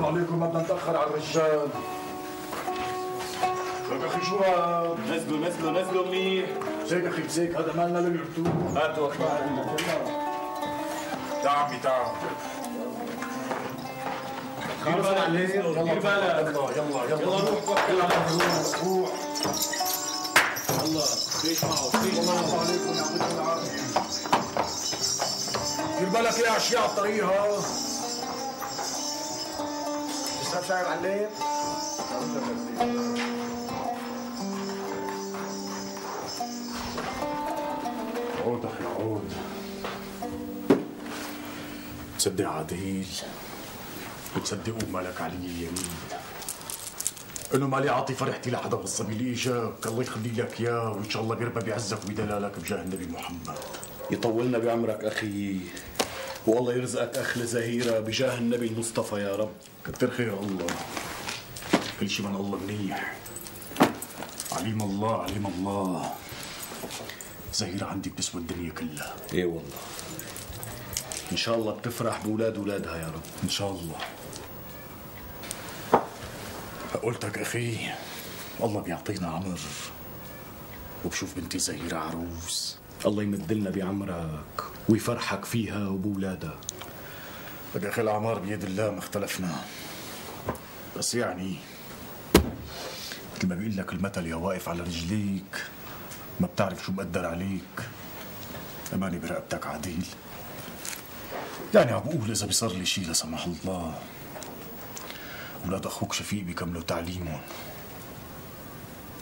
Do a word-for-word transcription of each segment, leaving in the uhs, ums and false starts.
عليكم، ما بدنا نتاخر على الرجال. لك اخي شو هاد؟ نزلوا نزلوا نزلوا منيح. مسيك اخي مسيك، هذا مالنا للرتوب. هاتوا اخي. تعال عمي تعال. دير بالك دير بالك. يلا يلا يلا روح توكل على الله. روح. يلا ليش معه ليش الله معه. يرضى عليكم يعطيكم العافية. دير بالك يا اشياء على الطريق ها. تشرب شاي معلم؟ عود اخي عود. تصدق عديل وتصدقوا مالك علي يمين انه مالي اعطي فرحتي لحدا بالصبي اللي اجاك، الله يخلي لك اياه وان شاء الله بيربى بعزك وبدلالك بجاه النبي محمد. يطولنا بعمرك اخي، والله يرزقك اخ زهيره بجاه النبي المصطفى يا رب. كتر خير الله، كل شيء من الله منيح. عليم الله عليم الله، زهيرة عندي بتسوى الدنيا كلها. ايه والله، ان شاء الله بتفرح باولاد اولادها يا رب. ان شاء الله. قلتك اخي الله بيعطينا عمر وبشوف بنتي زهيرة عروس. الله يمدلنا بعمرك ويفرحك فيها وبولادها. لك اخي الاعمار بيد الله، ما اختلفنا، بس يعني مثل ما بيقول لك المثل، يا واقف على رجليك ما بتعرف شو مقدر عليك. اماني برقبتك عديل. يعني عم بقول اذا بيصير لي شيء لا سمح الله، اولاد اخوك شفيق بيكملوا تعليمهم،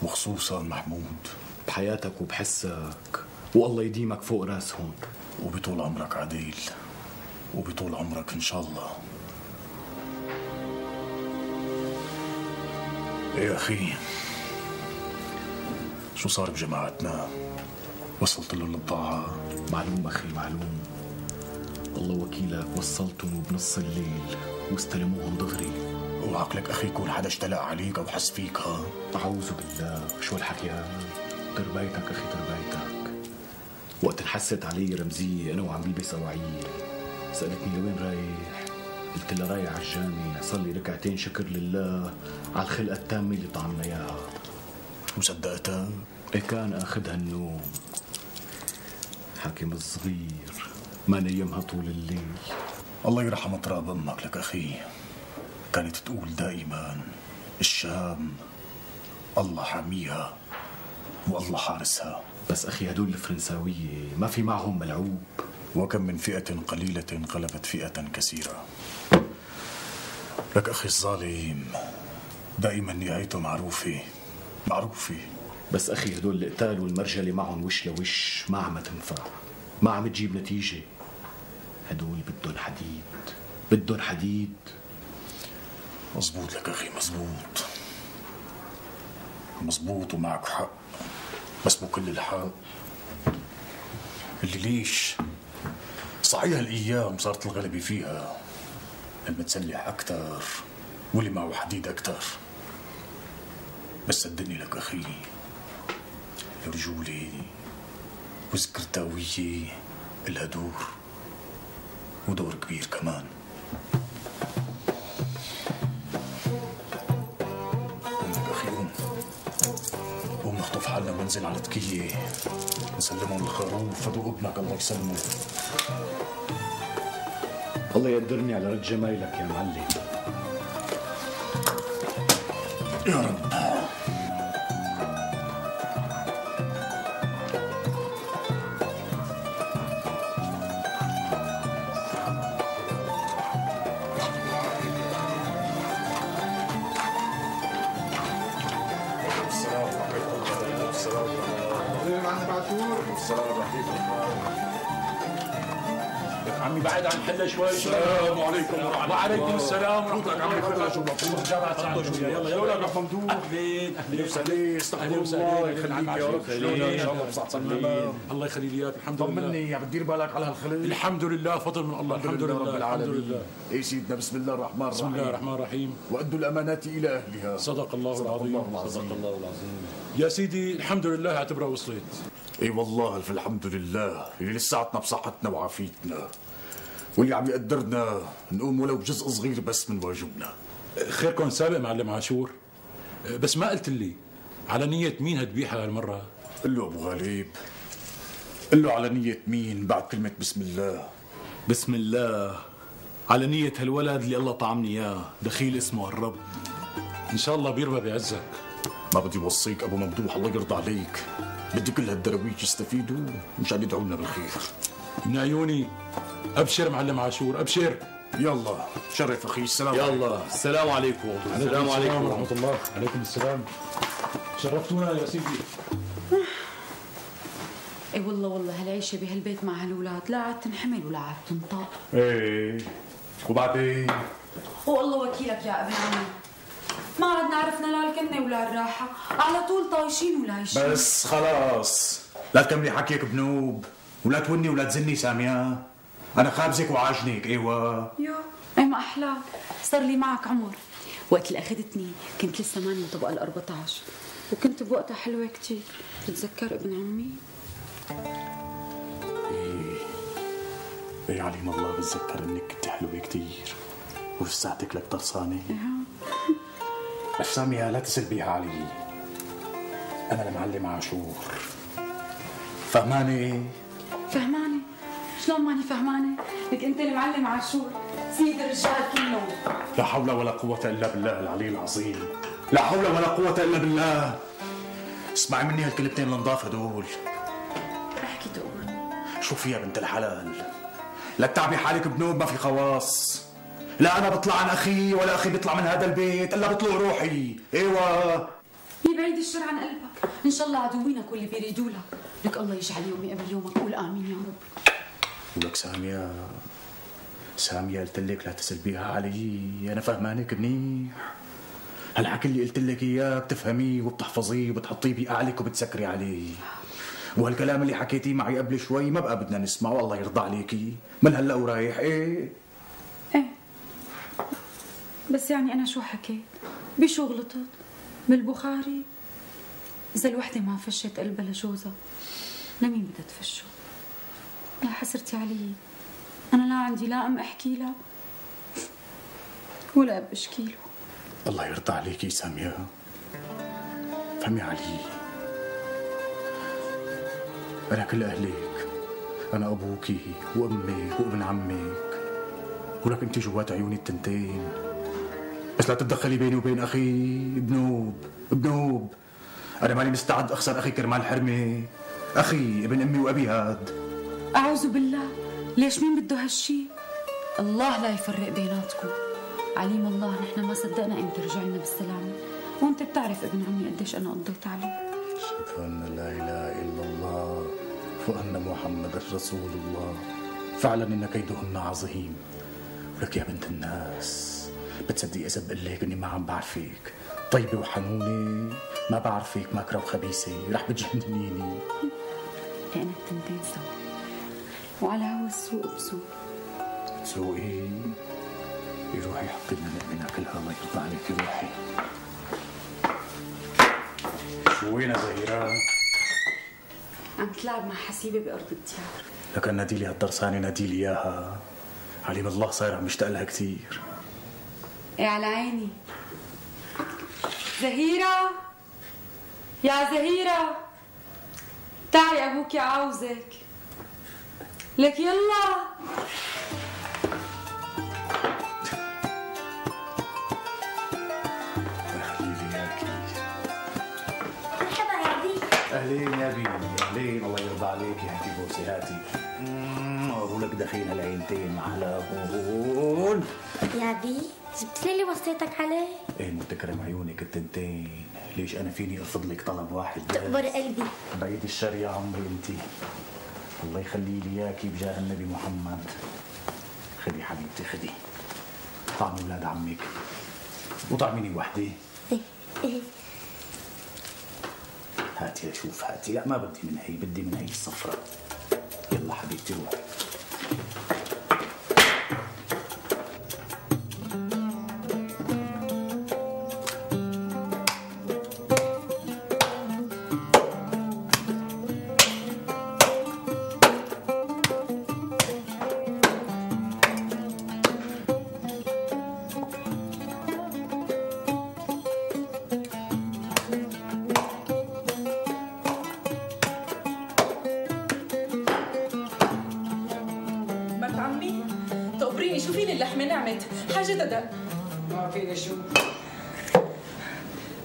وخصوصا محمود بحياتك وبحسك، والله يديمك فوق راسهم. وبطول عمرك عديل، وبطول عمرك ان شاء الله. ايه يا اخي، شو صار بجماعتنا؟ وصلت له البضاعة؟ معلوم اخي معلوم، الله وكيلك وصلتهم بنص الليل واستلموهم دغري. وعقلك اخي يكون حدا اشتلق عليك او حس فيك ها؟ اعوذ بالله، شو الحكي هذا؟ تربيتك اخي تربيتك. وقت انحست علي رمزيه انا وعم بلبس اواعيي، سالتني لوين رايح؟ قلت لها رايح على الجامع صلي ركعتين شكر لله على الخلقه التامه اللي طعمنا اياها. وصدقتها؟ ايه كان اخذها النوم. حاكم الصغير ما نيمها طول الليل. الله يرحم تراب امك. لك اخي كانت تقول دائما الشام الله حاميها والله حارسها. بس اخي هدول الفرنساويه ما في معهم ملعوب. وكم من فئة قليلة غلبت فئة كثيرة. لك أخي الظالم دائما نهايته معروفة معروفة. بس أخي هدول القتال والمرجلة معهم وش لوش ما عم تنفع، ما عم تجيب نتيجة. هدول بدهم حديد، بدهم حديد. مزبوط لك أخي مزبوط مزبوط ومعك حق، بس مو كل الحق. اللي ليش صحيح الأيام صارت الغلبة فيها المتسلح أكثر واللي معه حديد أكثر، بس صدقني لك أخي الرجولة والسكرتاوية إلها دور، ودور كبير كمان. قوم لك أخي قوم قوم نخطف حالنا وننزل على تكية نسلمهم الخروف فدوا ابنك الله يسلمه. الله يقدرني على رد جمايلك يا معلم. يا رب. عمي بعد عن حله شوي. السلام عليكم ورحمة الله. وعليكم السلام ورحمة الله. عمي تفضل شو بطلع جامعة سعد شوي. يلا يلا يلا يا ممدوح. اهلين اهلين وسهلين. استغفر الله يخليك يا رب. شلونك ان شاء الله بصحة سلامة. الله يخلي لي اياك. الحمد لله. طمني عم تدير بالك على هالخلق؟ الحمد لله فضل من الله. الحمد لله رب العالمين. الحمد لله. اي سيدنا بسم الله الرحمن الرحيم. بسم الله الرحمن الرحيم. وادوا الامانات الى اهلها. صدق الله صدق العظيم. الله العظيم. صدق الله العظيم. يا سيدي الحمد لله اعتبرها وصلت. اي والله الف الحمد لله اللي لساتنا بصحتنا وعافيتنا، واللي عم يقدرنا نقوم ولو بجزء صغير بس من واجبنا. خيركم سابق معلم عاشور، بس ما قلت لي على نية مين هتبيعها هالمرة؟ قل له ابو غالب، قل له على نية مين بعد كلمة بسم الله. بسم الله على نية هالولد اللي الله طعمني اياه، دخيل اسمه الرب. ان شاء الله بيربى بعزك. ما بدي وصيك ابو ممدوح، الله يرضى عليك، بدي كل هالدرويش يستفيدوا مشان يدعوا لنا بالخير. من عيوني. ابشر معلم عاشور، ابشر. يلا شرف اخي. السلام يلا عليكم. السلام عليكم. السلام عليكم ورحمة الله. عليكم السلام. شرفتونا يا سيدي. اي والله والله هالعيشه بهالبيت مع هالولاد لا عاد تنحمل ولا عاد تنطاق. ايه وبعدين؟ والله وكيلك يا ابن عمي، ما عاد عرفنا لا الكنه ولا الراحه، على طول طايشين ولايشين. بس خلاص لا تكملي حكيك بنوب، ولا توني ولا تزني ساميه، انا خابزك وعاجنك. ايوه يا اي ما احلاك، صار لي معك عمر. وقت اللي اخذتني كنت لسه ماني طبقه ال أربعة عشر، وكنت بوقتها حلوه كثير. بتتذكر ابن عمي؟ ايه ايه عليم الله بتذكر انك كنت حلوه كثير ولساتك لك طرسانه. بس ساميه لا تسلبيها علي، انا المعلم عاشور، فهمانه؟ فهمانه؟ شلون ماني فهمانه؟ لك انت المعلم عاشور سيد الرجال كلهم. لا حول ولا قوة إلا بالله العلي العظيم، لا حول ولا قوة إلا بالله. اسمعي مني هالكلمتين النضاف هدول. احكي تقول. شوفي يا بنت الحلال، لا تتعبي حالك بنوب، ما في خواص. لا أنا بطلع عن أخي ولا أخي بيطلع من هذا البيت إلا بطلع روحي. أيوة يبعد الشر عن قلبك، إن شاء الله عدوينك واللي بيريدوا لك، لك الله يجعل يومي قبل يومك، قول آمين يا رب. ولك سامية، سامية قلت لك لا تسلبيها علي، أنا فهمانك منيح. هالحكي اللي قلت لك إياه بتفهميه وبتحفظيه وبتحطيه بأعلك وبتسكري عليه. وهالكلام اللي حكيتيه معي قبل شوي ما بقى بدنا نسمعه، الله يرضى عليكي، من هلا ورايح. إيه إيه بس يعني أنا شو حكيت؟ بشو غلطت؟ بالبخاري إذا الوحدة ما فشت قلبها لجوزها لمين بدها تفشه؟ يا حسرتي علي، أنا لا عندي لا أم أحكي لها ولا أب أشكي له. الله يرضى عليكي سامية، فهمي علي، أنا كل أهلك، أنا أبوكي وأمك وابن عمك، ولك أنت جوات عيوني التنتين، بس لا تتدخلي بيني وبين أخي بنوب. بنوب أنا ماني مستعد أخسر أخي كرمال حرمة، أخي ابن أمي وأبي هاد. أعوذ بالله، ليش مين بده هالشي؟ الله لا يفرق بيناتكم، عليم الله نحن ما صدقنا امتى رجعنا بالسلامة، وانت بتعرف ابن عمي قديش أنا قضيت عليه. أشهد أن لا إله إلا الله وأن محمد رسول الله، فعلا إن كيدهن عظيم. ولك يا بنت الناس بتصدقي إذا بقول لك إني ما عم بعرفك، طيبة وحنونة، ما بعرفك ماكرة وخبيثة، رح بتجننيني. لأن التنتين سوا وعلى هوا السوق بسوق. تسوقي؟ روحي حطي لنا نقمنا كلها، الله يرضى عليكي. روحي. شو وينها زهيرة؟ عم تلعب مع حسيبة بأرض الديار. لكن ناديلي هالدرسانة، ناديلي إياها، عليم الله صاير عم يشتاق لها كثير. ايه على عيني. زهيرة يا زهيرة، تعي أبوك عاوزك. لك يلا. أهلين يا بي، أهلين، الله يرضى عليك، هاتي بوسي هاتي. أقول لك دخيل هالعينتين مع هون. يا بي جبت لي اللي وصيتك عليه؟ إيه متكرم عيونك التنتين، ليش أنا فيني أرفض لك طلب واحد بس؟ تقبر قلبي. بعيد الشر يا عمري أنتي، الله يخلي لي إياكي بجاه النبي محمد. خدي حبيبتي خدي، طعمي ولاد عمك وطعميني وحدي. إيه إيه هاتي اشوف، هاتي. لا ما بدي من هي، بدي من هي الصفراء. يلا حبيبتي روحي. نامت، حاجة دق. ما فيني شو.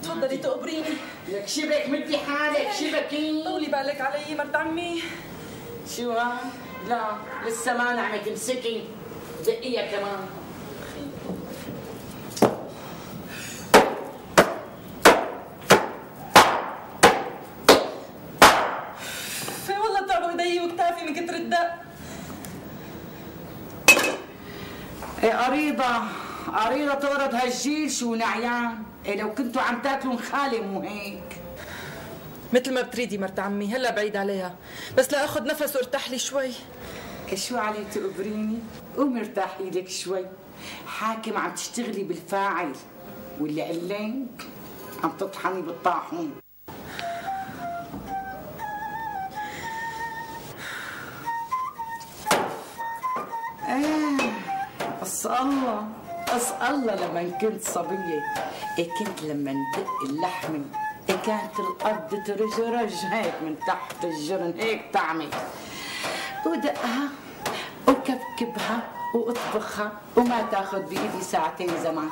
تفضلي تقبريني. لك شبك مدي حالك شبكي. طولي بالك علي مرت عمي. شو ها؟ لا لسه ما نعمت امسكي دقيها كمان. في والله تعبوا ايدي وكتافي من كتر الدق. ايه قريضة قريضة تورد هالجيل شو نعيان. إيه لو كنتوا عم تاكلوا خالي مو هيك. مثل ما بتريدي مرت عمي، هلا بعيد عليها، بس لاخذ نفس وارتاح لي شوي. شو علي تقبريني؟ قومي ارتاحي لك شوي. حاكم عم تشتغلي بالفاعل واللي قلك عم تطحني بالطاحون. ايه بس الله بس الله لما كنت صبية إيه كنت لما ندق اللحمة إيه كانت الأرض ترجرج هيك من تحت الجرن هيك تعمل ودقها وكبكبها واطبخها وما تاخذ بايدي ساعتين زمان.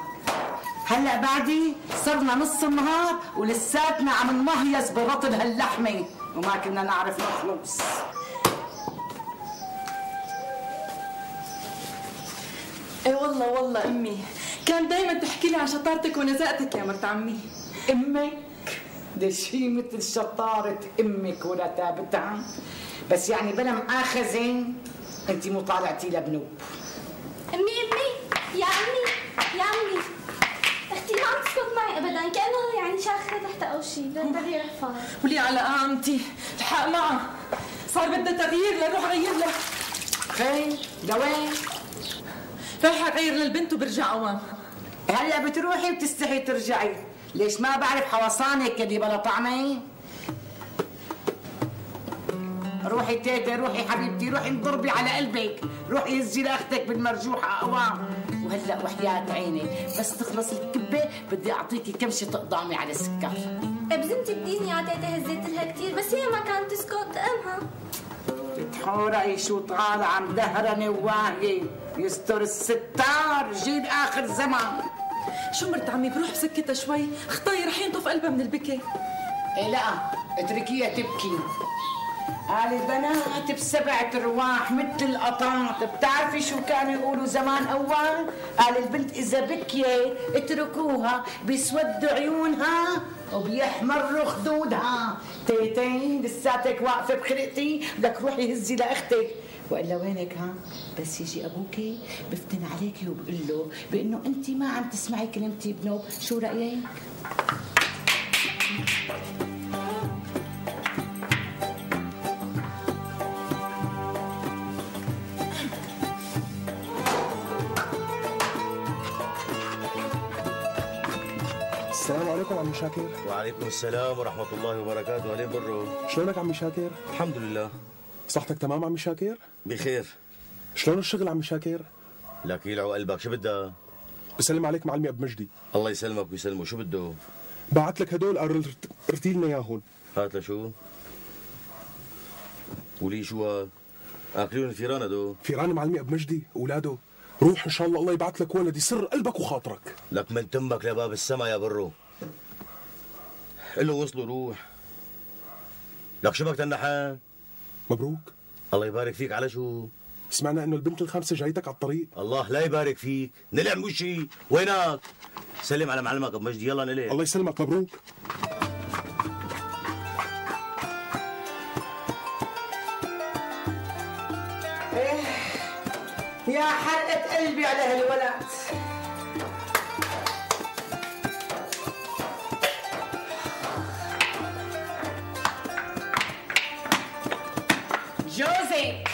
هلا بعدي صرنا نص النهار ولساتنا عم نمهيص ببطن هاللحمه وما كنا نعرف نخلص. ايه والله والله امي كان دايما تحكي لي عن شطارتك ونزاهتك يا مرت عمي. امك؟ ده شي مثل شطارة امك ولا تابتها، بس يعني بلا مؤاخذة انت مو طالعتي لبنوب. امي امي يا امي يا امي اختي ما عم تسكت معي ابدا، كانه يعني شاخه تحت او شيء، بدها تغيير احفاظ. ولي على قامتي الحق معها، صار بدها تغيير لنروح غير لها. خير لوين؟ رايحه اغير للبنت وبرجع اوام. هلا بتروحي وبتستحي ترجعي، ليش ما بعرف حوصانك اللي بلا طعمه؟ روحي تيتا روحي حبيبتي روحي انضربي على قلبك، روحي هزي لاختك بالمرجوحه اوام. وهلا وحياة عيني بس تخلص الكبه بدي اعطيكي كمشه تقضامي على السكر. بزنتي بديني يا تيتا هزيت لها كثير بس هي ما كانت تسكت امها. تتحورقي شو طالعه مدهرنه وواهيه، يستر الستار جيب اخر زمان. شو مرت عمي بروح بسكتها شوي، خطاي رح ينطف قلبها من البكي. ايه لا اتركيها تبكي. قال البنات بسبعة ارواح مثل القطاط، بتعرفي شو كانوا يقولوا زمان اول؟ قال البنت اذا بكيت اتركوها بيسودوا عيونها وبيحمروا خدودها. تيتين لساتك واقفه بخلقتي، بدك روحي هزي لاختك. والا وينك ها؟ بس يجي ابوكي بفتن عليكي وبقول له بانه انت ما عم تسمعي كلمتي بنوب، شو رايك؟ السلام عليكم عمي شاكر. وعليكم السلام ورحمة الله وبركاته. أهلين برو. شلونك عمي شاكر؟ الحمد لله. صحتك تمام عمي شاكر؟ بخير. شلون الشغل عمي شاكر؟ لك يلعو قلبك، شو بدها؟ بسلم عليك معلمي ابو مجدي. الله يسلمك ويسلمه، شو بده؟ بعت لك هدول قال ارتي لنا اياهم. هات لشو؟ ولي شو هاد؟ اكلون الفيران هدول؟ فيران معلمي ابو مجدي اولاده. روح ان شاء الله الله يبعث لك ولد يسر قلبك وخاطرك. لك من تمك لباب السما يا برو. قل له وصلوا روح. لك شو بك تنحان؟ مبروك. الله يبارك فيك. على شو؟ سمعنا انه البنت الخامسه جايتك على الطريق. الله لا يبارك فيك، نلع مو شيء، وينك؟ سلم على معلمك ابو مجدي، يلا نلع. الله يسلمك. مبروك. ايه يا حرقة قلبي على هالولد. جوزك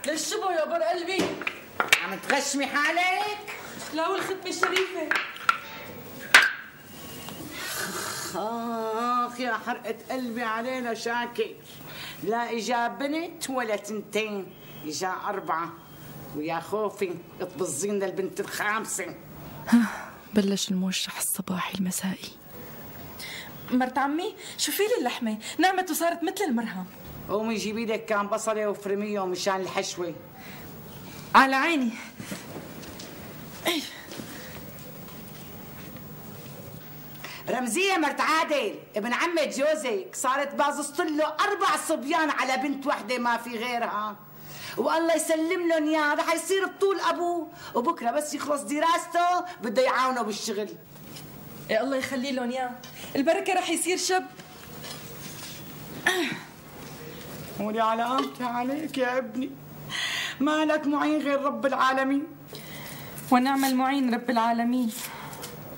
للشبو يا بر قلبي. عم تغشمي حالك؟ لا والختمة الشريفة. اخ يا حرقة قلبي علينا شاكر. لا اجا بنت ولا تنتين، اجا أربعة، ويا خوفي تبظين للبنت الخامسة. بلش الموشح الصباحي المسائي. مرت عمي شوفي لي اللحمة نعمت وصارت مثل المرهم. قومي جيبي لك كان بصلة وفرميه مشان الحشوة. على عيني. ايه رمزية مرت عادل ابن عمة جوزك صارت بازصت له أربع صبيان على بنت وحدة ما في غيرها، والله يسلم لهم اياه رح يصير بطول ابوه، وبكره بس يخلص دراسته بده يعاونه بالشغل. يا الله يخلي لهم اياه، البركه رح يصير شب. قولي على قامتي عليك يا ابني، ما لك معين غير رب العالمين. ونعم المعين رب العالمين.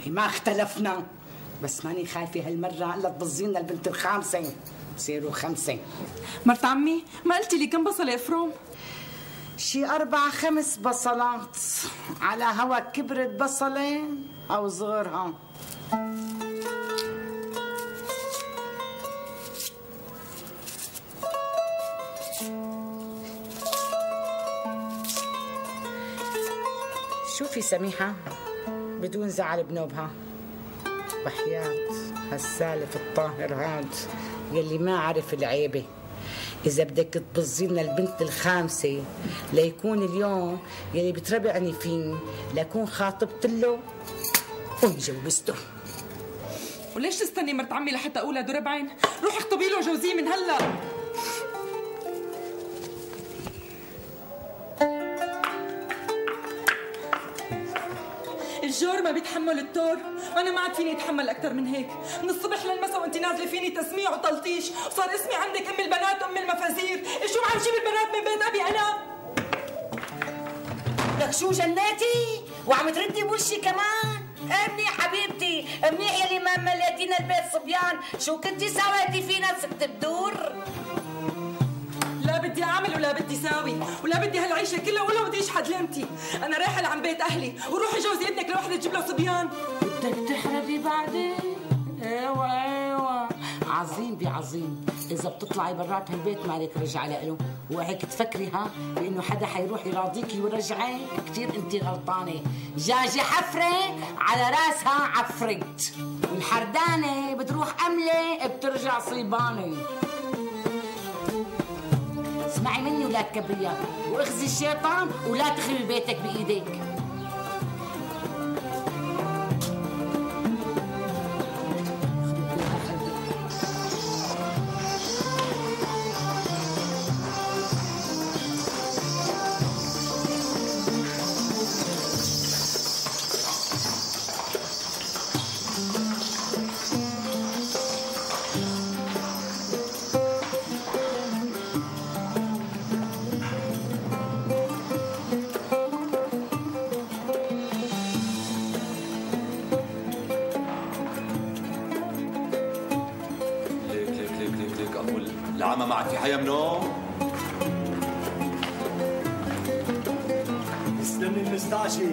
ما اختلفنا، بس ماني خايفه هالمره الا تبظينا البنت الخامسه، بصيروا خمسه. مرت عمي ما قلتي لي كم بصله افروم؟ شي أربع خمس بصلات، على هوا كبرت بصلة أو صغرها. شوفي سميحة بدون زعل بنوبها، وحياة هالسالف الطاهر هاد يلي ما عرف العيبة، إذا بدك تبظينا البنت الخامسة ليكون اليوم يلي بتربعني فيه لكون خاطبت له ومجوزته. وليش تستني مرت عمي لحتى أقولها دور بعين؟ روحي اخطبي له جوزيه من هلا. الجور ما بيتحمل التور، وانا ما عاد فيني اتحمل اكثر من هيك، من الصبح للمساء وانت نازله فيني تسميع وتلطيش، وصار اسمي عندك ام البنات ام المفازير، شو عم جيب البنات من بيت ابي انا؟ لك شو جناتي؟ وعم تردي بوشي كمان؟ منيح حبيبتي، منيح يلي ما مليتينا البيت صبيان، شو كنتي سويتي فينا ست بدور؟ لا بدي اعمل ولا بدي ساوي، ولا بدي هالعيشه كلها ولا بدي اشحد لمتي، انا رايحه لعند بيت اهلي، وروحي جوزي ابنك لوحده تجيب له صبيان. بدك تحرقي بعدين؟ ايوه ايوه، عظيم بعظيم، اذا بتطلعي برات هالبيت مالك رجعه له، وهيك تفكري ها بانه حدا حيروح يراضيكي ويرجعك، كثير انت غلطانه، جاجي حفره على راسها عفرت، والحردانه بتروح امله بترجع صيبانه. اسمعي مني ولا تكبريها، واخزي الشيطان ولا تخربي بيتك بايديك. العمى معك في حياة منهم؟ استني المستعشي.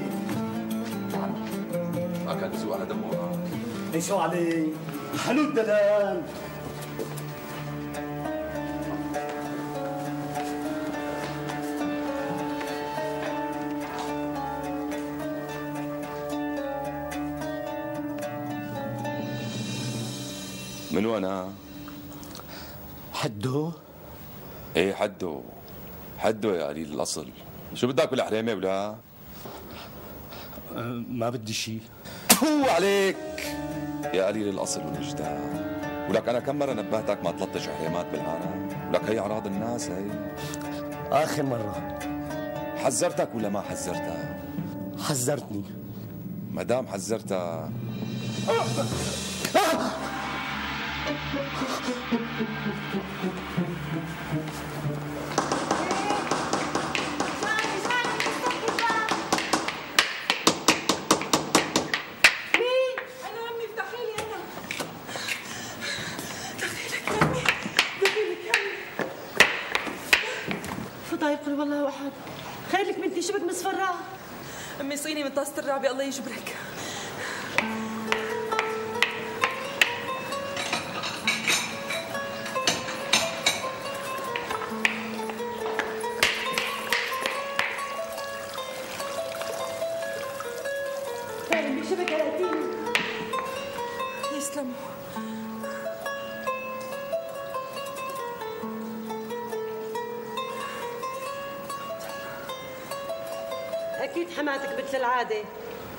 ما كان بزوق على دمه. اي شو عليه؟ حلو الدلال. من وانا؟ حدو؟ ايه حدو حدو يا قليل الاصل، شو بدك بالاحرامه ولا؟ أه ما بدي شيء. هو عليك يا قليل الاصل والوجدان، ولك انا كم مره نبهتك ما تلطش احرامات بالعالم، ولك هي اعراض الناس هي. اخر مره حذرتك ولا ما حذرتك؟ حذرتني. ما دام حذرتك يقول والله واحد خير لك بنتي، شو بك مصفرة؟ امي صيني من طاسة الرعبة الله يجبرك. خير امي شو بك يا لاتين؟ يسلموا. أكيد حماتك مثل العادة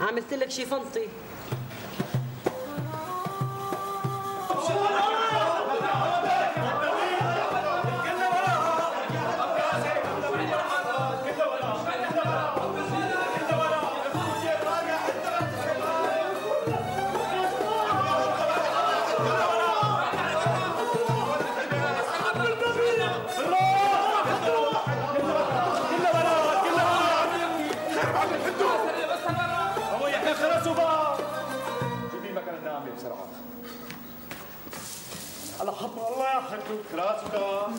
عملت لك شي فنطي. بسرعه. على حب الله يا حدوك راسك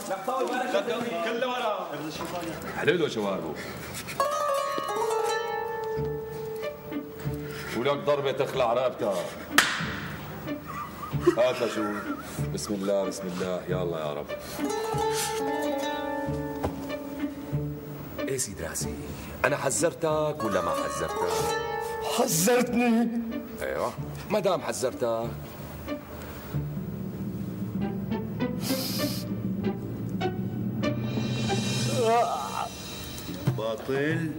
لك طول بالك لك كله ورا حلو شواربه ولك ضربه تخلع رقبتها. هات لشوف. بسم الله بسم الله يا الله يا رب. ايه سيد راسي انا حذرتك ولا ما حذرتك؟ حذرتني. ايوه ما دام حذرتك باطل.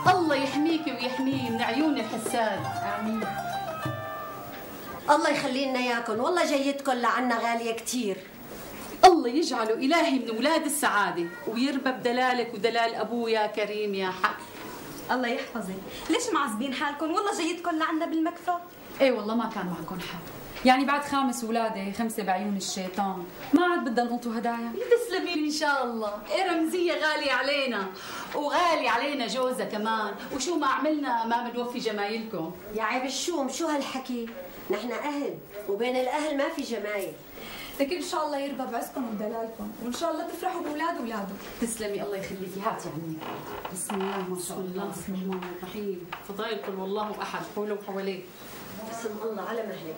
الله يحميك ويحميه من عيون الحساد. آمين. الله يخلي لنا اياكم، والله جيتكم لعنا غاليه كثير. الله يجعله الهي من اولاد السعاده ويربى بدلالك ودلال ابوه يا كريم يا حق. الله يحفظك. ليش معذبين حالكم؟ والله جيتكم لعنا بالمكفى. ايه والله ما كان معكم حق، يعني بعد خامس ولاده خمسه بعيون الشيطان ما عاد بدنا نقطوا هدايا. تسلمي ان شاء الله. إيه رمزيه غاليه علينا وغالي علينا جوزها كمان، وشو ما عملنا ما بنوفي جمايلكم. يا عيب الشوم شو هالحكي؟ نحن اهل وبين الاهل ما في جمايل. لكن ان شاء الله يرضى بعزكم ودلالكم وان شاء الله تفرحوا باولاد اولاده. تسلمي الله يخليكي. هاتي عني. بسم الله ما شاء الله. بسم الله الرحمن الرحيم. فضائل قل والله احد حوله وحواليه. بسم الله على مهلك.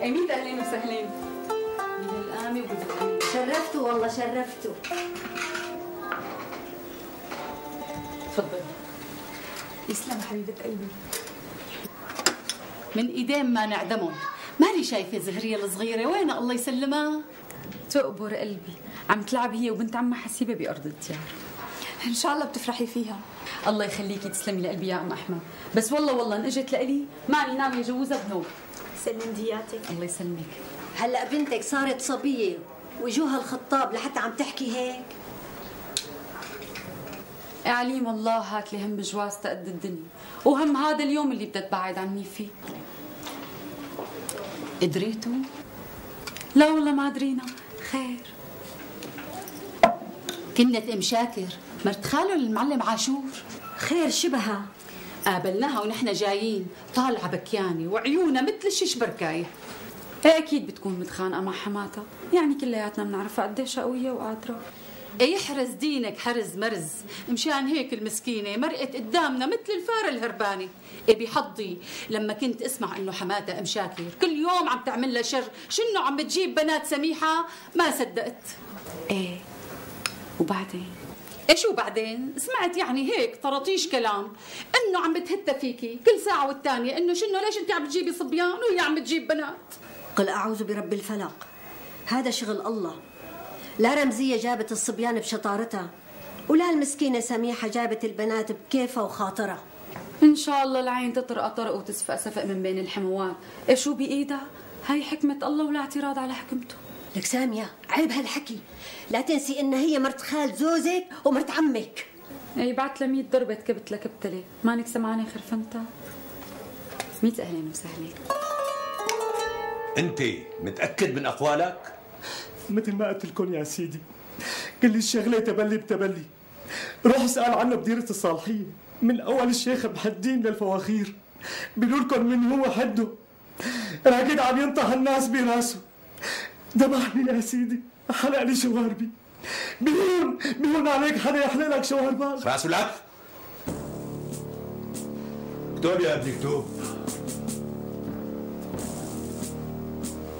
اميت اهلين وسهلين. من القامه وبالقامه. شرفتوا والله شرفتوا. تفضلي. يسلم حبيبه قلبي. من ايدين ما نعدمهم. مالي شايفه زهريه الصغيره وين الله يسلمها؟ تقبر قلبي، عم تلعب هي وبنت عمها حسيبه بارض الديار. ان شاء الله بتفرحي فيها. الله يخليكي تسلمي لقلبي يا ام احمد، بس والله والله ان اجت لإلي ماني ناويه اجوزها بنوب. سلم دياتك. الله يسلمك. هلا بنتك صارت صبيه وجوها الخطاب لحتى عم تحكي هيك. عليم الله هات لي هم جواز تقد الدنيا وهم هذا اليوم اللي بدها تبعد عني فيه. قدريتوا؟ لا والله ما درينا. خير. كنت ام شاكر مرت خاله المعلم عاشور. خير شبهها؟ قابلناها ونحن جايين طالعه بكيانه وعيونها مثل الشيش بركايه. ايه اكيد بتكون متخانقه مع حماتها، يعني كلياتنا بنعرفها قديش قويه وقادره. ايه يحرز دينك حرز مرز، مشان هيك المسكينه مرقت قدامنا مثل الفار الهربانه. ايه بحظي لما كنت اسمع انه حماتها ام شاكر كل يوم عم تعمل لها شر، شنو عم بتجيب بنات سميحه، ما صدقت. ايه وبعدين؟ ايش وبعدين؟ سمعت يعني هيك طرطيش كلام انه عم بتهتى فيكي كل ساعه والثانيه، انه شنو ليش انت عم بتجيبي صبيان وهي عم بتجيب بنات. قل اعوذ برب الفلق، هذا شغل الله. لا رمزيه جابت الصبيان بشطارتها ولا المسكينه سميحه جابت البنات بكيفها وخاطرها. ان شاء الله العين تطرق طرق وتسفق سفق من بين الحموات. ايه شو بايدها؟ هاي حكمه الله ولا اعتراض على حكمته. لك ساميه عيب هالحكي، لا تنسي انها هي مرت خال زوزك ومرت عمك. اي بعت لها مية ضربه كبت لكبتله، مانك سمعانه خرفنتها؟ مية اهلين وسهلين. انت متاكد من اقوالك؟ مثل ما قلت لكم يا سيدي، كل الشغله تبلي بتبلي. روح اسال عنها بديره الصالحيه، من اول الشيخ محدين للفواخير بيقولوا لكم من هو حده، راكد عم ينطح الناس براسه. ذبحني يا سيدي، حلق لي شواربي. بيهون بيهون عليك حدا يحلق لك شواربك. راسه لك. اكتب يا ابني اكتب.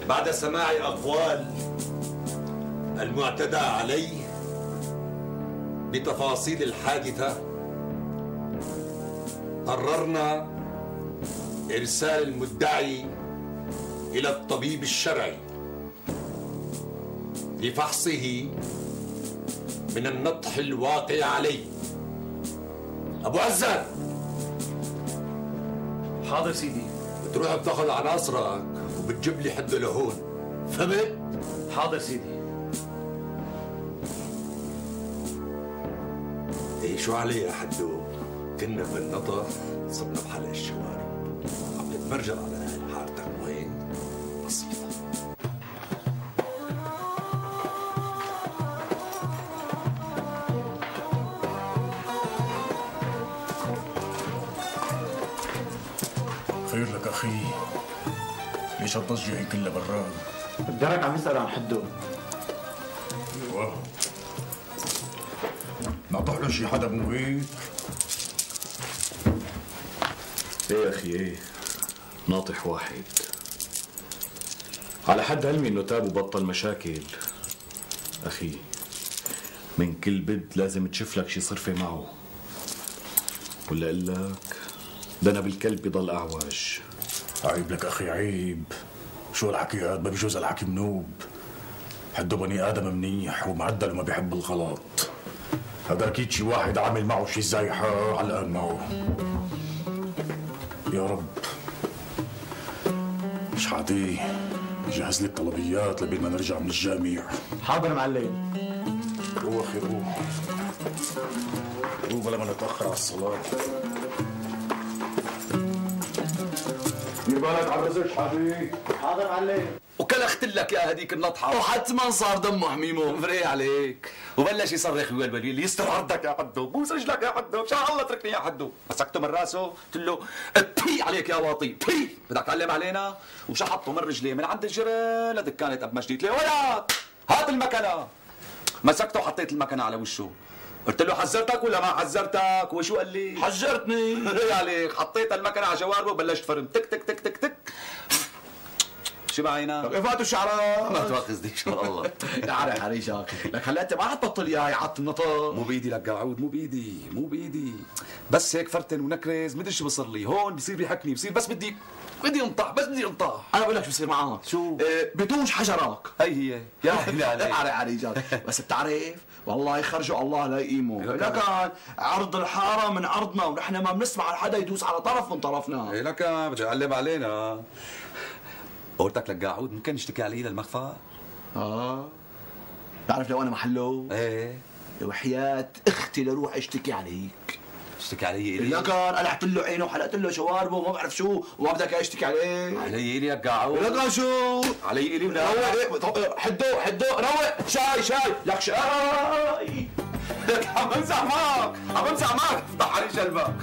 بعد سماع اقوال المعتدى عليه بتفاصيل الحادثه قررنا ارسال المدعي إلى الطبيب الشرعي لفحصه من النطح الواقع عليه. أبو عزان. حاضر سيدي. بتروح بتاخذ عناصرك وبتجيب لي حده لهون، فهمت؟ حاضر سيدي. ايه شو علي يا حدو؟ كنا بالنطح صرنا بحلق الشوارب، عم نتمرجل على اهل حارتك وين؟ بسيطة. خير لك اخي، ليش هالضجة هي كلها براد؟ الدرك عم يسأل عن حده. ايوه نطح له شي حدا مو هيك؟ ايه يا اخي ايه، ناطح واحد على حد علمي انه تاب وبطل مشاكل. اخي من كل بد لازم تشوف لك شي صرفة معه، ولا اقول لك ده انا بالكلب بضل اعوج. عيب لك اخي عيب، شو هالحكي هاد؟ ما بيجوز الحكي منوب. حده بني ادم منيح ومعدل وما بيحب الغلط. هذا اكيد شي واحد عامل معه شي زايحه علقان معه. يا رب. شحاتي جهز لي الطلبيات لبين ما نرجع من الجامع. حاضر معلم. روح اخي روح روح بلا ما نتاخر على الصلاه. دير بالك على الرزق شحاتي. حاضر معلم. وكلخت لك يا هديك النطحه وحتما صار دمه حميمه فري عليك وبلش يصرخ ويلبل يستر عرضك يا حدو، بوس رجلك يا حدو، مشان الله اتركني يا حدو. مسكته من راسه قلت له بي عليك يا واطي بي، بدك تعلم علينا؟ وشحطه من رجليه من عند الجرة لدكانه ابو مجدي. قلت له وياك هات المكنه. مسكته وحطيت المكنه على وشه، قلت له حذرتك ولا ما حذرتك؟ وشو قال لي؟ حذرتني. فري عليك. حطيت المكنه على جواربه وبلشت فرم تك تك تك تك تك. شو بعينا؟ فاتوا شعرات. ما تواخذني ان شاء الله. يا عري حريشك، لك هلا انت ما حتبطل اياي عط النطق. مو بايدي لك قاعود، مو بايدي مو بايدي، بس هيك فرتن ونكرز مدري شو بصير لي هون، بصير بيحكني بصير بس بدي بدي انطح، بس بدي انطح. انا بقول لك شو بصير معك. شو؟ إيه بتوش حجرك. هي هي يا هلا عليك. عري حريشك، بس بتعرف والله يخرجوا الله لا يقيموا. لكن عرض الحاره من عرضنا ونحن ما بنسمع حدا يدوس على طرف من طرفنا. ايه لك بدي اعلم علينا. قلتك لك قاعود ممكن نشتكي علي للمخفى؟ اه بتعرف لو انا محله؟ ايه وحياة اختي لروح اشتكي عليك. اشتكي علي الي؟ لكن قلعت له عينه وحلقت له شواربه وما بعرف شو وما بدك اشتكي عليه. علي الي يا قاعود. لكن شو؟ علي الي ولا روق حدو حدو روق شاي شاي لك شاي. لك عم بمزح معك عم بمزح معك افتح علي شلبك.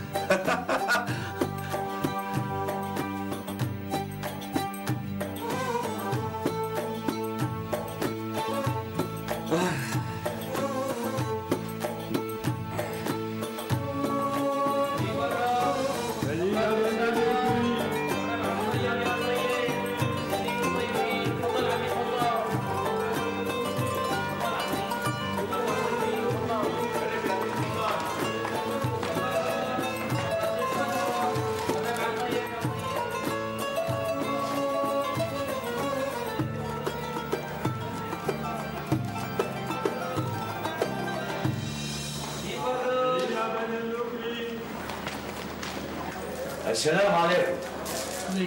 السلام عليكم.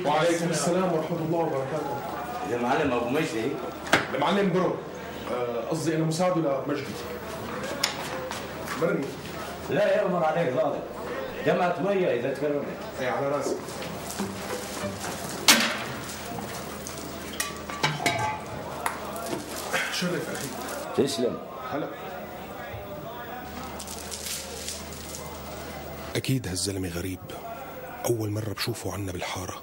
وعليكم السلام ورحمة الله وبركاته. المعلم أبو مجدي؟ المعلم برو، قصدي أنا مساعده لمجدي. مرني. لا يأمر عليك ضابط. جمعت مية إذا تكرمت. إيه على راسي. شرف أخي. تسلم. هلا. أكيد هالزلمة غريب، أول مرة بشوفه عنا بالحارة.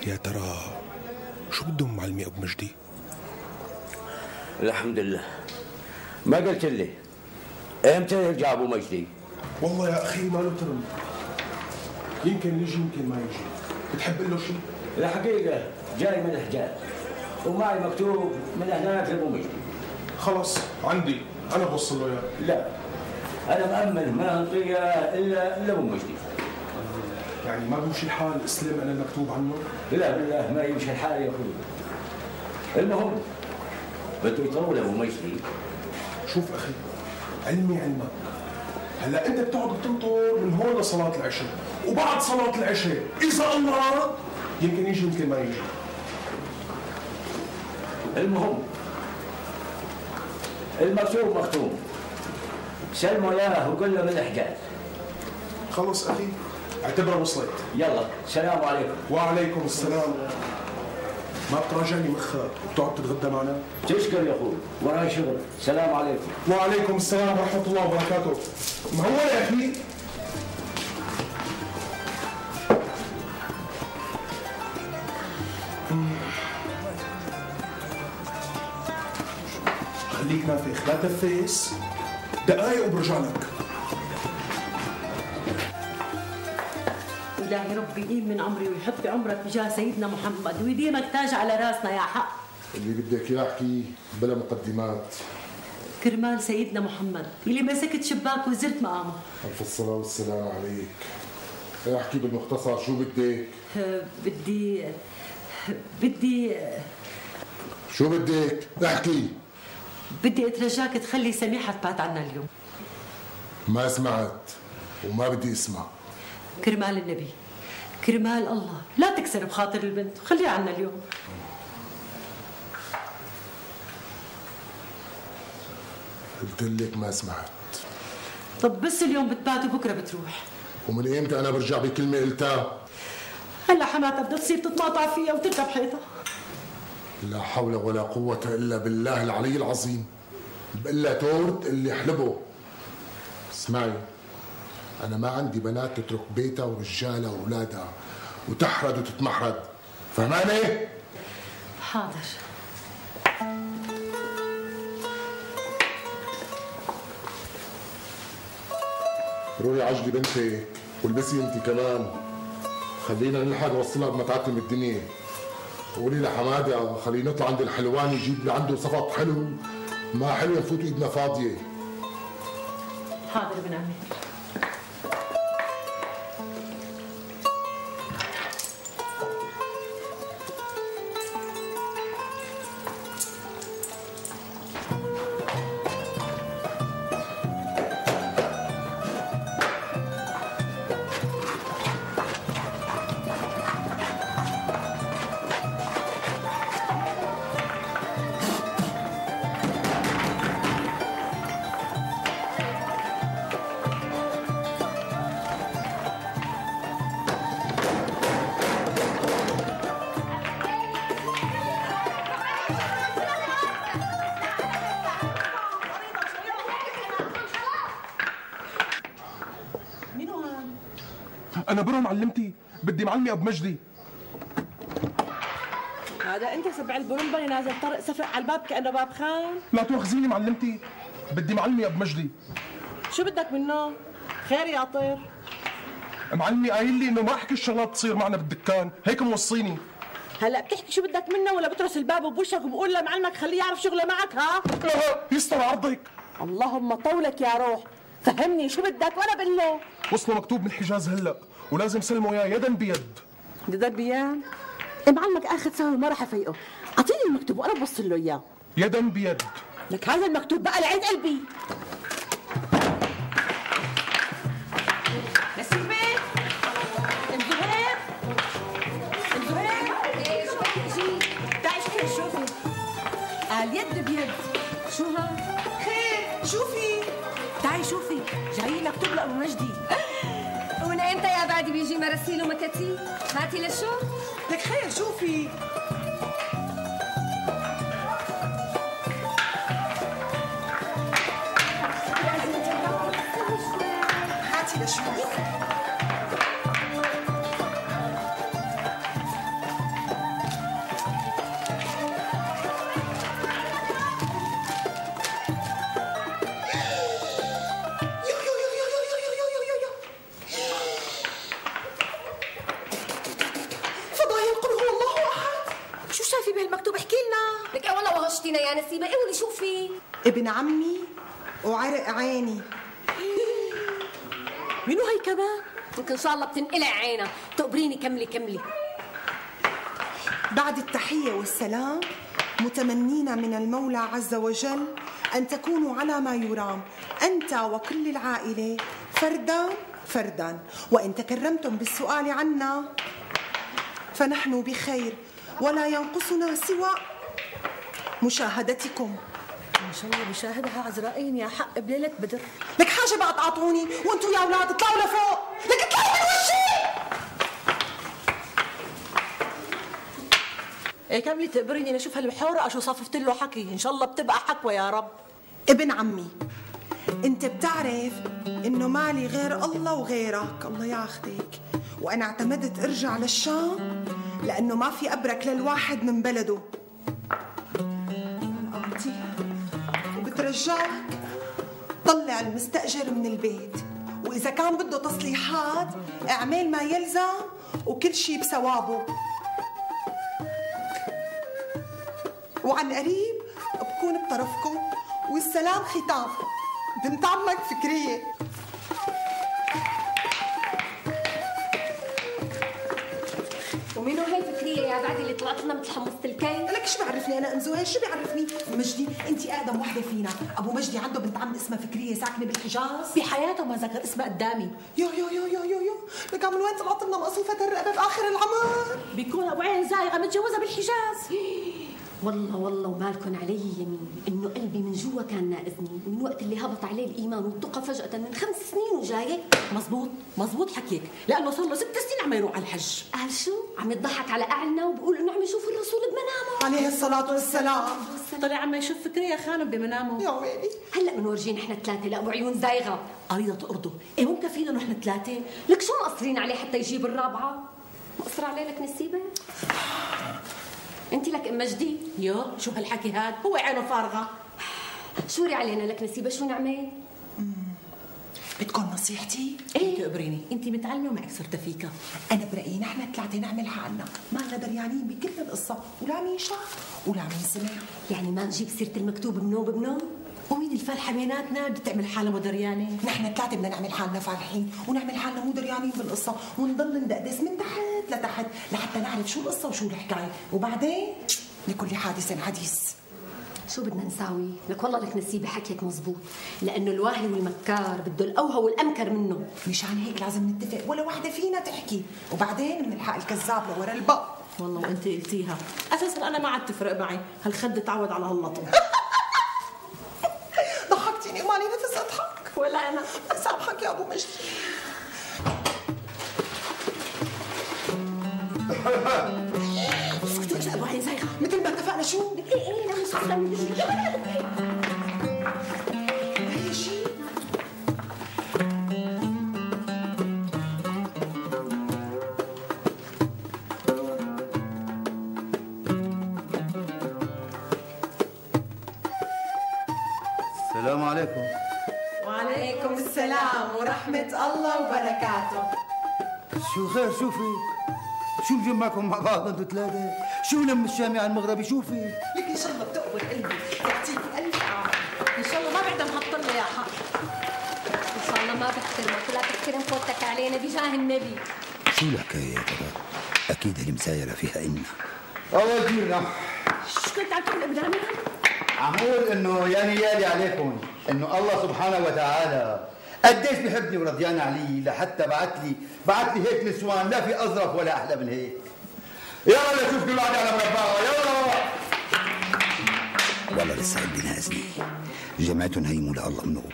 يا ترى شو بدهم معلمي أبو مجدي؟ الحمد لله. ما قلت لي امتى يرجع أبو مجدي؟ والله يا أخي ما له ترم، يمكن يجي يمكن ما يجي. بتحب له شيء؟ الحقيقة جاي من حجاز ومعي مكتوب من هناك لأبو مجدي. خلص عندي أنا بوصل له إياه. لا أنا مأمن ما أنطيه إلا لأبو مجدي. يعني ما بيمشي الحال استلم انا المكتوب عنه؟ لا بالله ما يمشي الحال يا اخوي. المهم بده يطول ابو مجدي. شوف اخي، علمي علمك، هلا انت بتقعد بتنطر من هون لصلاه العشاء، وبعد صلاه العشاء اذا الله اراد يمكن يجي يمكن ما يجي. المهم المكتوب مختوم، سلموا اياه وقول له من الحجاز. خلص اخي اعتبرها وصلت. يلا السلام عليكم. وعليكم السلام. ما بتراجعني مخك وبتقعد تتغدى معنا؟ تشكر يا اخوي، وراي شغل. السلام عليكم. وعليكم السلام ورحمه الله وبركاته. مهول يا اخي. خليك نافخ، لا تفيس، دقايق وبرجع لك. إلهي ربي يديم من عمري ويحط بعمرك بجاه سيدنا محمد ويديمك تاج على راسنا يا حق. اللي بدك اياه احكي بلا مقدمات. كرمال سيدنا محمد اللي مسكت شباك وزرت مقامه. ألف الصلاة والسلام عليك. احكي بالمختصر شو بدك؟ بدي بدي شو بدك؟ احكي. بدي اترجاك تخلي سميحة تبات عنا اليوم. ما سمعت وما بدي اسمع. كرمال النبي، كرمال الله، لا تكسر بخاطر البنت وخليها عنا اليوم. قلت لك ما سمعت. طب بس اليوم بتبات وبكره بتروح. ومن ايمتى انا برجع بكلمة قلتها؟ هلا حماتها بدها تصير تتماطع فيها وتركب حيطها. لا حول ولا قوة الا بالله العلي العظيم. بقلها تورت اللي حلبه. اسمعي، أنا ما عندي بنات تترك بيتها ورجالها وأولادها وتحرد وتتمحرد، فهماني؟ حاضر. روحي عجلي بنتك والبسي انت كمان، خلينا نلحق نوصلها بما تعتم الدنيا. قولي لحماده خليه نطلع عند الحلواني يجيب لي عنده صفط حلو، ما حلو نفوت ايدنا فاضيه. حاضر ابن عمي. أنا برو معلمتي، بدي معلمي أبو مجدي. هذا أنت سبع البرمبة اللي نازل طرق سفق على الباب كأنه باب خان؟ لا تواخذيني معلمتي، بدي معلمي أبو مجدي. شو بدك منه؟ خير يا طير. معلمي قايل لي إنه ما أحكي الشغلات تصير معنا بالدكان، هيك موصيني. هلا بتحكي شو بدك منه ولا بترس الباب بوشك وبقول لمعلمك خليه يعرف شغله معك ها؟ لا يستر عرضك. اللهم طولك يا روح، فهمني شو بدك وانا بقول له. وصلوا مكتوب من الحجاز هلا ولازم سلموا اياه يدا بيد. يدا بيد؟ معلمك اخذ سوا ما راح افيقه، اعطيني المكتوب وانا بوصل له اياه. يدا بيد. لك هذا المكتوب بقى لعيد قلبي. نسيبه الزهير الزهير تعي شوفي شوفي قال يد بيد. شو هاد؟ خير شوفي تعي شوفي جاي مكتوب لأبو مجدي. ومن امتى يا بعدي بيجي مراسيل ومكاتيب؟ هاتي لشو؟ لك خير شوفي. هاتي لشوفي. وغشتينا يا نسيبة، قولي شو في؟ ابن عمي وعرق عيني. منو هي كمان؟ يمكن ان شاء الله بتنقلع عينها. تقبريني كملي كملي. بعد التحية والسلام متمنين من المولى عز وجل أن تكونوا على ما يرام أنت وكل العائلة فردا فردا، وإن تكرمتم بالسؤال عنا فنحن بخير ولا ينقصنا سوى مشاهدتكم. ان شاء الله بشاهدها عزرائيل يا حق بليلة بدر. لك حاجة بقى تعطوني وانتوا يا اولاد اطلعوا لفوق، لك اطلعوا من وشي. ايه كملي تقبريني لاشوف هالحورة اشو صففت له حكي، ان شاء الله بتبقى حكوة يا رب. ابن عمي انت بتعرف انه مالي غير الله وغيرك، الله ياخذك، وانا اعتمدت ارجع للشام لانه ما في ابرك للواحد من بلده. انتي وبترجاك طلع المستأجر من البيت، واذا كان بده تصليحات اعمل ما يلزم وكل شيء بثوابه. وعن قريب بكون بطرفكم، والسلام ختام. بنت عمك فكرية. ومنو هي فكرية يا بعدي اللي طلعت لنا مثل حمصة الكي؟ لك شو بيعرفني انا ام زهير؟ شو بيعرفني؟ مجدي انت اقدم وحده فينا، ابو مجدي عنده بنت عم اسمها فكرية ساكنه بالحجاز. بحياته ما ذكر اسمها قدامي. يو يو يو يو يو يو لك من وين طلعت لنا مقصوفة الرقبه باخر العمر؟ بيكون ابو عين زايغه متجوزه بالحجاز. والله والله ومالكن علي يمين انه قلبي من جوا كان ناقزني من وقت اللي هبط عليه الايمان وانتقى فجأة من خمس سنين وجاي. مزبوط مزبوط حكيك، لانه صار له ست سنين عم يروح على الحج. قال شو؟ عم يضحك على اعلنا وبقول انه عم يشوف الرسول بمنامه عليه الصلاة والسلام. طلع عم يشوف فكرية خانم بمنامه. يا ويلي. هلا بنورجيه نحن ثلاثة لابو عيون زايغة قريضة أرضه. ايه ممكن فينا نحن ثلاثة؟ لك شو مقصرين عليه حتى يجيب الرابعة؟ مقصر عليه لك نسيبة؟ انت لك ام مجدي؟ يو شو هالحكي هاد؟ هو عينه فارغه. شوري علينا لك نسيبه، شو نعمل؟ بدكم نصيحتي؟ ايه تقبريني، انت متعلمه ومعك سرتفيكا. انا برايي نحن ثلاثه نعمل حالنا ما لنا دريانين بكل القصه، ولا مين شاف ولا مين سمع. يعني ما نجيب سيره المكتوب بنوب بنوب؟ ومين الفالحه بيناتنا بدها تعمل حالها مو دريانه؟ نحن ثلاثه بدنا نعمل حالنا فالحين ونعمل حالنا مو دريانين بالقصه، ونضل ندقدس من تحت لتحت لحتى نعرف شو القصه وشو الحكايه، وبعدين لكل حادث حديث. شو بدنا نساوي؟ لك والله لك نسيبه حكيك مزبوط، لانه الواهي والمكار بده الاوهى والامكر منه. مشان هيك لازم نتفق ولا وحده فينا تحكي، وبعدين بنلحق الكذاب لورا الباب. والله وانت قلتيها، اساسا انا ما عاد تفرق معي، هالخد تعود على هاللطم. ضحكتيني ومالي نفس اضحك. ولا انا. سامحك يا ابو مجدي. اسكتوا يا ابو عين زايغه، مثل ما اتفقنا. شو؟ ايه ايه لا مش عارفه هي شيء. السلام عليكم. وعليكم السلام ورحمة الله وبركاته. شو خير؟ شو في؟ شو مجمعكم مع بعض انتوا ثلاثة؟ شو لم الشامي على المغربي؟ شو في؟ لك ان شاء الله بتقبل قلبي، يعطيك الف عافية. ان شاء الله ما بعدها محط يا حق. ان شاء الله ما بحترمك ولا تحترم فوتك علينا بجاه النبي. شو الحكاية يا ترى؟ أكيد المسايرة فيها إنا. الله يجينا. شو كنت عم تقول ابراهيم؟ عم اقول انه يا نيالي عليكم انه الله سبحانه وتعالى قديش بحبني ورضيان علي لحتى بعت لي بعت لي هيك نسوان لا في اظرف ولا احلى من هيك. يلا شوف كل واحد على مربعه يلا. والله لسه قلبي نازني. جمعتهم هيموا لله منوب.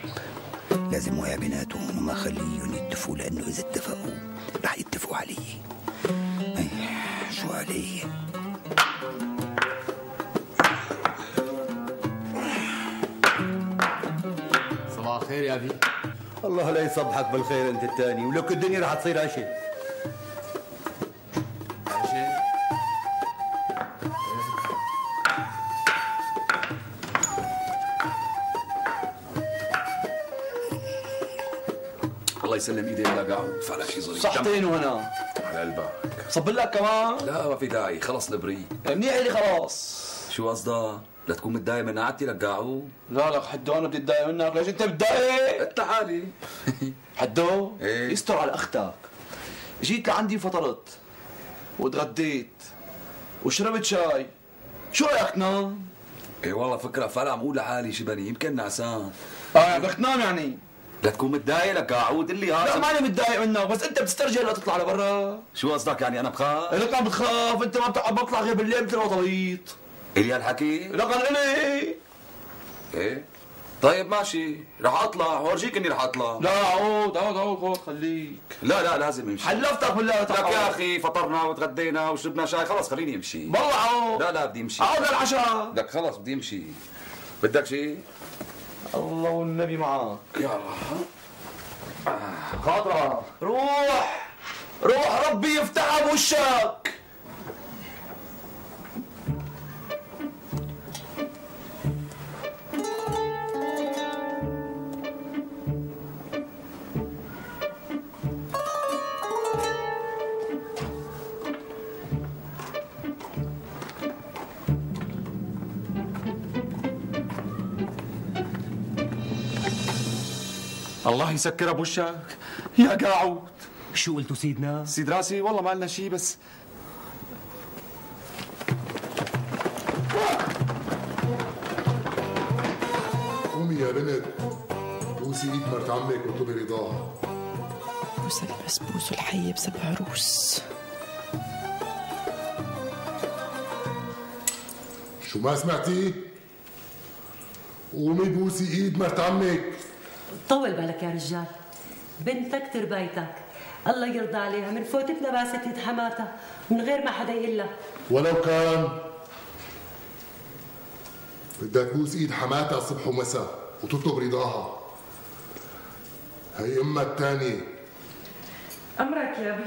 لازم ويا بيناتهم وما خليهم يتفقوا، لانه اذا اتفقوا رح يتفقوا علي. اي شو علي؟ صباح الخير يا ابي. الله لا يصبحك بالخير انت الثاني، ولك الدنيا رح تصير عشاء. عشاء؟ الله يسلم ايديك لا قاعد فعلا شيء ظريف. صحتين وهنا على قلبك. صب لك كمان؟ لا ما في داعي، خلص البريق. منيح اللي خلاص. شو قصدك؟ لا تكون متضايق من قعدتي لقاعو؟ لا لك حدو انا بدي اتضايق منك، ليش انت متضايق؟ انت حالي. حدو ايه؟ يستر على اختك. جيت لعندي فطرت وتغديت وشربت شاي، شو رايك تنام؟ ايه والله فكره فعلا عم اقول لحالي شبني يمكن نعسان. اه بدك تنام يعني؟ لا تكون متضايق لك قاعود لي هذا. لا ماني متضايق منك، بس انت بتسترجل لتطلع لبرا. شو قصدك يعني انا بخاف؟ لك عم بتخاف، انت ما بتقعد بطلع غير بالليل مثل الوطليط. الي هالحكي؟ لك الي. ايه طيب ماشي، رح اطلع وارجيك اني رح اطلع. لا عود عود عود خود خليك. لا لا لازم امشي. حلفتك بالله لك يا اخي فطرنا وتغدينا وشربنا شاي، خلص خليني امشي. والله عود. لا لا بدي امشي. عود للعشاء. لك خلص بدي امشي. بدك شيء؟ الله والنبي معك. يلا خاطرة روح روح ربي يفتحها بوشك. الله يسكرها بوشك يا قاعود. شو قلتوا سيدنا؟ سيد راسي والله ما لنا شيء، بس قومي يا بنت، بوسي ايد مرت عمك واطلبي رضاها. بوس البسبوس الحي بسبع روس. شو ما سمعتي؟ قومي بوسي ايد مرت عمك. طول بالك يا رجال، بنتك تربيتك، الله يرضى عليها، من فوتتنا باست يد حماتها من غير ما حدا يقول لها. ولو كان بدها تبوس ايد حماتها صبح ومساء وتطلب رضاها. هي امها الثانية. امرك يا ابي.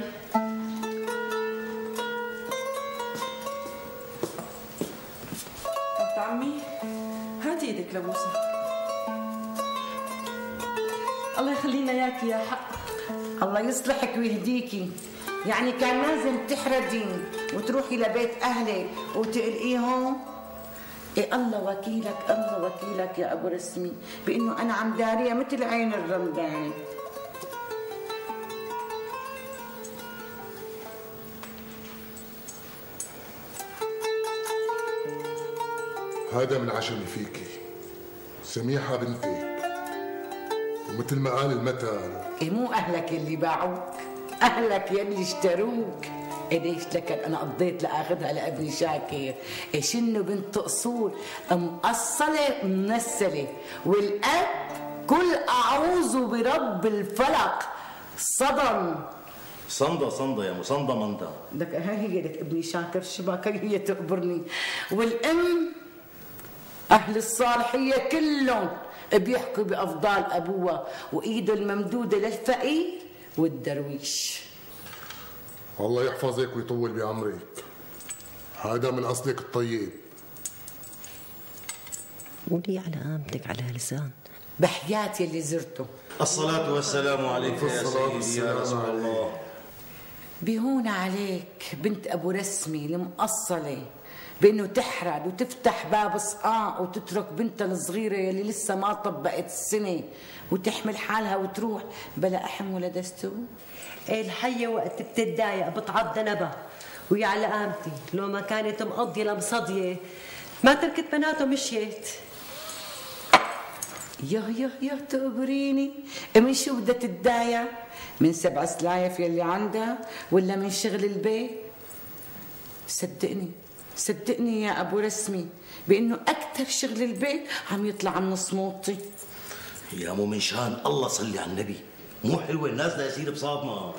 بنت عمي هاتي ايدك لبوسه. الله يخلينا اياكي يا حق. الله يصلحك ويهديكي. يعني كان لازم تحردين وتروحي لبيت اهلك وتقلقيهم؟ إيه الله وكيلك، الله وكيلك يا ابو رسمي بانه انا عم داريه مثل عين الرمدان. هذا من عشمي فيكي، سميحة بنتك، ومثل ما قال المثل إيه مو اهلك اللي باعوك، اهلك يلي اشتروك. إيه ليش لك انا قضيت لاخذها لابني شاكر. إيه شنو بنت اصول مقصله منسله، والاب كل اعوذ برب الفلق صدم. صندة صندة يا مصندة مندا. لك هاي هي لك ابني شاكر شباك هي تقبرني. والام اهل الصالحيه كلهم بيحكوا بافضال ابوها وايده الممدوده للفقير والدرويش. الله يحفظك ويطول بعمرك. هذا من اصلك الطيب. قولي على قامتك على لسان. بحياتي اللي زرته. الصلاة والسلام عليك يا سيدي يا رسول الله. بيهون عليك بنت ابو رسمي المقصله بانه تحرد وتفتح باب صقاع وتترك بنتها الصغيره يلي لسه ما طبقت السنه وتحمل حالها وتروح بلا احم ولا دستور. الحية وقت بتتضايق بتعض نبا، ويا على قامتي لو ما كانت مقضية لمصدية ما تركت بناته مشيت. يا يا يا تقبريني، من شو بدها تتضايق؟ من سبع سلايف يلي عندها ولا من شغل البيت؟ صدقني صدقني يا ابو رسمي بانه اكثر شغل البيت عم يطلع من صموتي. يا مو من شان الله صلي على النبي، مو حلوه الناس لا يصير بصابنا.